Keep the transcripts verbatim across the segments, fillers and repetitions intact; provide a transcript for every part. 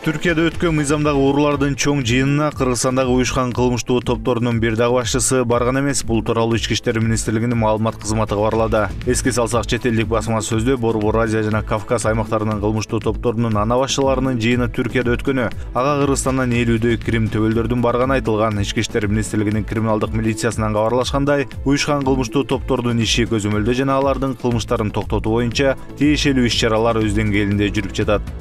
Түркияда өткөн мыйзамдагы уруулардын чоң жыйынына Кыргызстандагы уюшкан кылмыштуу топторунун бир дагы башчысы барган эмес. Бул тууралуу Ички иштер министрлигинин маалымат кызматы кабарлады. Эске салсак, чет элдик басма сөздө Борбор Азия жана Кавказ аймактарынын кылмыштуу топторунун ана башчыларынын жыйыны Түркияда өткөнү, ага Кыргызстандан элүүдөй Крим төбөлдөрдүн барганы айтылган. Ички иштер министрлигинин криминалдык милициясынан кабарлашкандай, уюшкан кылмыштуу топтордун иши көзөмөлдөө жана алардын кылмыштарын токтотуу боюнча тиешелүү иш-чаралар өз деңгээлинде жүрүп жатат.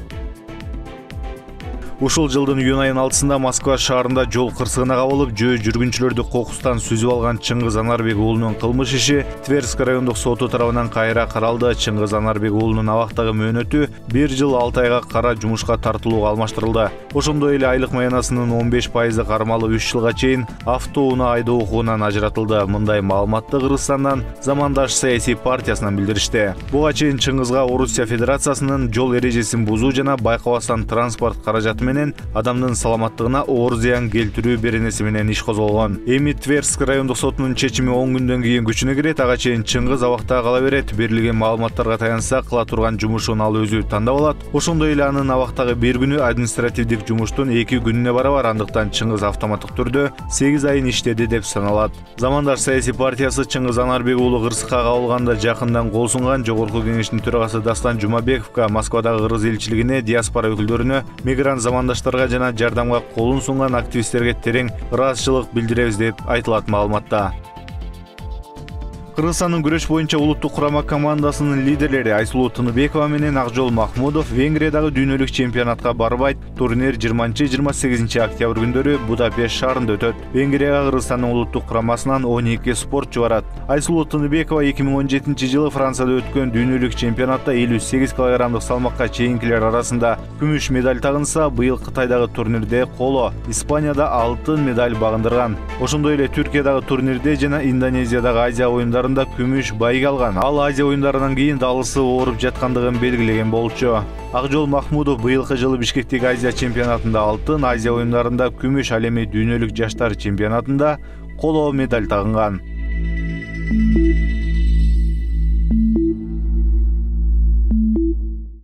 Ушул жылдын июнь айынын алтысында Москва шаарында жол кырсыгына кабылып, жөө жүргүнчүлөрдү кокустан сүзүп алган Чыңгыз Анарбек уулунун кылмыш иши Тверск райондук соту тарабынан кайра каралды. Чыңгыз Анарбек уулунун абактагы мөөнөтү бир жыл алты айга кара жумушка тартылууга алмаштырылды. Ошондой эле айлык маянасынын он беш пайызы кармалуу үч жылга чейин автоунаа айдоо укугунан ажыратылды. Мындай маалыматты Кыргызстандан Замандаш саясий партиясынан билдиришти. Буга чейин Чыңгызга Орусия Федерациясынын жол эрежесин бузуу жана байкабастан транспорт каражаты менен адамдын саламаттыгына оор зыян келтирүү беренеси менен иш козголгон. Эми Тверск райондук сотунун чечими он күндөн кийин күчүнө кирет. Ага чейин Чыңгыз абакта кала берет. Берилген маалыматтарга таянсак, кыла турган жумушун ал өзү тандап алат. Ошондой эле анын абактагы бир күнү административдик жумуштун эки күнүнө барабар. Андыктан Чыңгыз автоматтык түрдө сегиз айын иштеди деп саналат. Замандаш саясий партиясы Чыңгыз Анарбек уулу кырсыкка кабылганда жакындан кол сунган. Жогорку кеңештин төрагасы Дастан Жумабековго, Москвадагы Кыргыз элчилигине, диаспора өкүлдөрүнө, мигрант замандаштарга жана жардамга колун сунган активисттерге терең ыраазычылык билдиребиз деп айтылат маалыматта. Кыргызстандын күрөш боюнча улуттук курама командасынын лидерлери Айсулуу Тыныбекова менен Акжол Махмудов Венгриядагы дүйнөлүк чемпионатка барбайт. Турнир жыйырманчы — жыйырма сегизинчи октябрь күндөрү Будапешт шаарында өтөт. Венгрияга Кыргызстандын улуттук курамасынан он эки спортчу барат. Айсулуу Тыныбекова эки миң он жетинчи жылы Францияда өткөн дүйнөлүк чемпионатта элүү сегиз килограммдык салмакка чейинкилер арасында күмүш медаль тагынса, быйыл Кытайдагы турнирде коло, Испанияда алтын медаль багындырган. Ошондой эле Түркиядагы турнирде жана Индонезиядагы Азия оюндарында күмүш байыга алган. Ал Азия оюндарынан кийин далысы ооруп жаткандыгын белгилеген болчу. Акжол Махмудов быйылкы жылы Бишкектеги Азия чемпионатында алтын, Азия оюндарында күмүш, ал эми дүйнөлүк жаштар чемпионатында коло медаль тагынган.